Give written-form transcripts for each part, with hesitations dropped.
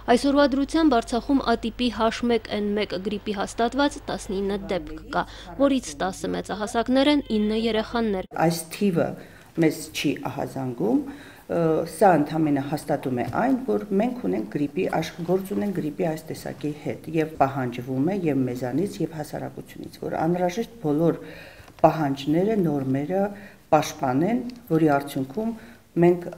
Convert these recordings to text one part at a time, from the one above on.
Այսօրվա դրությամբ Արցախում ատիպի H1N1 գրիպի հաստատված 19 դեպք կա, որից 10 մեծահասակներ են, 9 երեխաներ։ Այս թիվը մեզ չի ահազանգում, սա ընդհանրապես հաստատում է այն, որ մենք ունենք գործ ունենք գրիպի այս տեսակի հետ եւ պահանջվում է եւ մեզանից եւ հասարակությունից, որ անհրաժեշտ բոլոր պահանջները, նորմերը պաշտպանեն, որի արդյունքում մենք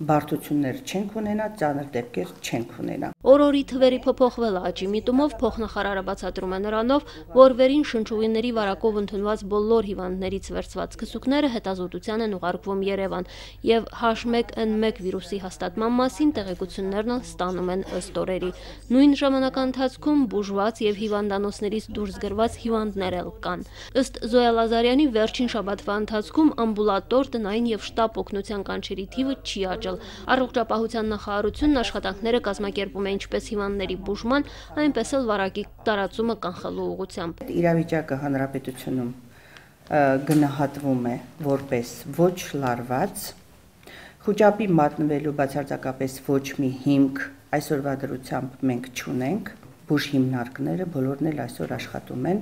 բարդություններ չենք ունենա, ծանր դեպքեր չենք ունենա։ Օր-օրի թվերի փոփոխվելը աճի միտումով փոխնախարարը բացատրում է նրանով, որ վերին շնչուղիների վարակով ընդունված բոլոր հիվանդներից վերցված քսուկները հետազոտության են ուղարկվում Երևան եւ H1N1 վիրուսի հաստատման մասին տեղեկություններն ստանում են ըստ օրերի։ Նույն ժամանակահատվածում բուժված եւ հիվանդանոցներից դուրս գրված հիվանդներ էլ կան։ Ըստ Զոյա Լազարյանի վերջին շաբաթվա ընթացքում ամբուլատոր, տնային եւ շտապ օգնության կանչերի թիվը չի աճել։ Առողջապահության նախարարությունն աշխատանքները կազմակերպում է ինչպես հիվանդների բուժման, այնպես էլ վարակի տարածումը կանխելու ուղղությամբ։ Իրավիճակը հանրապետությունում գնահատվում է որպես ոչ լարված, խոճապի մատնվելու բացարձակապես ոչ մի հիմք այսօրվա դրությամբ մենք չունենք, բուժ հիմնարկները բոլորն էլ այսօր աշխատում են,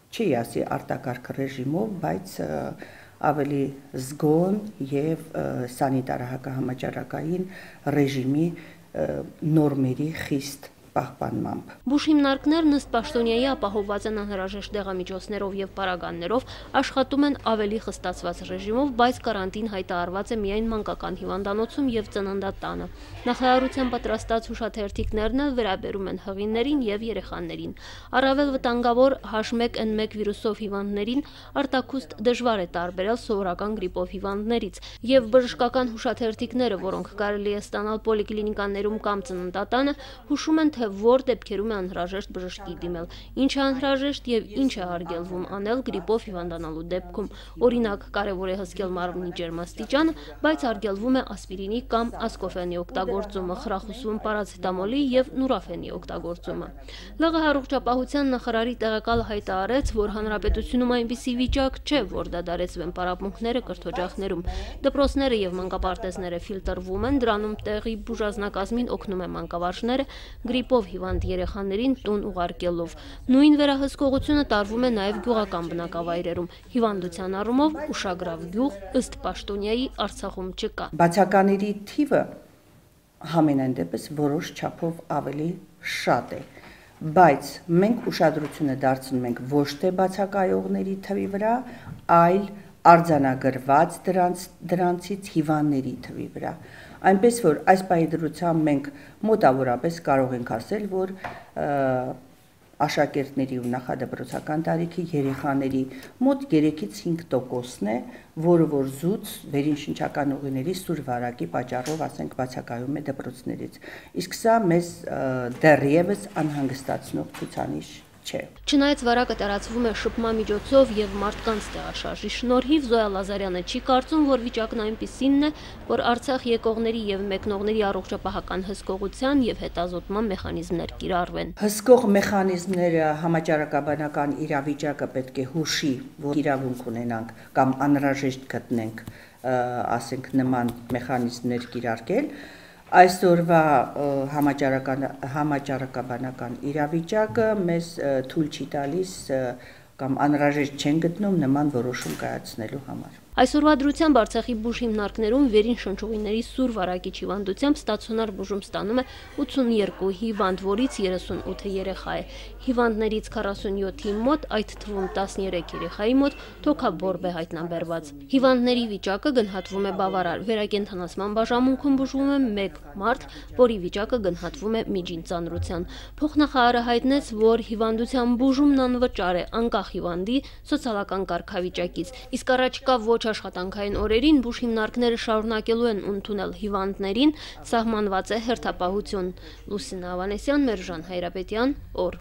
չի ասի արտակարգ ռեժիմով, բայց ավելի զգոն եւ սանիտարահակահամաճարակային ռեժիմի նորմերի խիստ պահպանմամբ։ Բուժ հիմնարկներն ըստ պաշտոնյայի ապահովված են անհրաժեշտ դեղամիջոցներով եւ պարագաներով, աշխատում են ավելի խստացված ռեժիմով, բայց կարանտին հայտարարված է միայն մանկական հիվանդանոցում եւ ծննդատանը։ Նախարարության պատրաստած հուշաթերթիկներն էլ վերաբերում են հղիներին եւ երեխաներին։ Առավել վտանգավոր H1N1 վիրուսով հիվանդներին արտաքուստ դժվար է տարբերել սովորական գրիպով հիվանդներից, եւ բժշկական հուշաթերթիկները, որոնք կարելի է ստանալ պոլիկլինիկաներում կամ ծննդատանը, հուշում են, թե որ դեպքերում է անհրաժեշտ բժշկի դիմել, ինչ է անհրաժեշտ եւ ինչ է արգելվում անել գրիպով հիվանդանալու դեպքում։ Օրինակ, կարևոր է հսկել մարմնի ջերմաստիճանը, բայց արգելվում է ասպիրինի կամ ասկոֆենի օգտագործումը, խրախուսվում պարացետամոլի եւ նուրաֆենի օգտագործումը։ ԼՂՀ առողջապահության նախարարի տեղակալը հայտարարեց, որ հանրապետությունում այնպիսի վիճակ չէ, որ դադարեցվեն պարապմունքները կրթօջախներում։ Դպրոցները եւ մանկապարտեզները ֆիլտրվում են, դրանում տեղի բուժազնակազմին օգնում է մանկավարժները գրիպով հիվանդ երեխաներին տուն ուղարկելով։ Նույն վերահսկողությունը տարվում է նաև գյուղական բնակավայրերում։ Հիվանդության առումով ուշագրավ գյուղ ըստ պաշտոնյայի Արցախում չկա։ Բացակաների թիվը համենայն դեպս որոշ չափով ավելի շատ է, բայց մենք ուշադրությունը դարձնում ենք ոչ թե բացակայողների թվի վրա, այլ արձանագրված դրանցից հիվանդների թվի վրա։ Այնպես որ այս պահի դրությամբ մենք մոտավորապես կարող ենք ասել, որ աշակերտների ու նախադպրոցական տարիքի երեխաների մոտ 3-ից 5%-ն է, որը որ զուտ վերին շնչական ուղիների սուր վարակի պատճառով, ասենք, բացակայում է դպրոցներից։ Իսկ սա մեզ դեռևս անհանգստացնող ցուցանիշ չէ։ Չնայած վարակը տարածվում է շփման միջոցով եւ մարդկանց տեղաշարժի շնորհիվ, Զոյա Լազարյանը չի կարծում, որ վիճակն այնպիսինն է, որ Արցախ եկողների եւ մեկնողների առողջապահական հսկողության եւ հետազոտման մեխանիզմներ կիրառվեն։ Հսկող մեխանիզմները համաճարակաբանական իրավիճակը պետք է հուշի, որ իրավունք ունենանք կամ անհրաժեշտ գտնենք, ասենք, նման մեխանիզմներ կիրարկել։ Այսօրվա համաճարակաբանական իրավիճակը մեզ թույլ չի տալիս կամ անհրաժեշտ չեն գտնում նման որոշում կայացնելու համար։ Այսօրվա դրությամբ Արցախի բուժ հիմնարկներում վերին շնչուղիների սուր վարակիչ հիվանդությամբ ստացիոնար բուժում ստանում է 82 հիվանդ, որից 38-ը երեխա է։ Հիվանդներից 47-ի մոտ, այդ թվում 13 երեխայի մոտ թոքաբորբ է հայտնաբերված։ Հիվանդների վիճակը գնահատվում է բավարար։ Վերակենդանացման բաժանմունքում բուժվում է 1 մարդ, որի վիճակը գնահատվում է միջին ծանրության։ Փոխնախարարը հայտնեց, որ հիվանդության բուժումն անվճար է, անկախ հիվանդի սոցիալական կարգավիճակից։ Իսկ առաջիկա ոչ աշխատանքային օրերին բուժ հիմնարկները շարունակելու են ընդունել հիվանդներին, սահմանված է հերթապահություն։ Լուսինա Ավանեսյան, Մերժան Հայրապետյան, օր։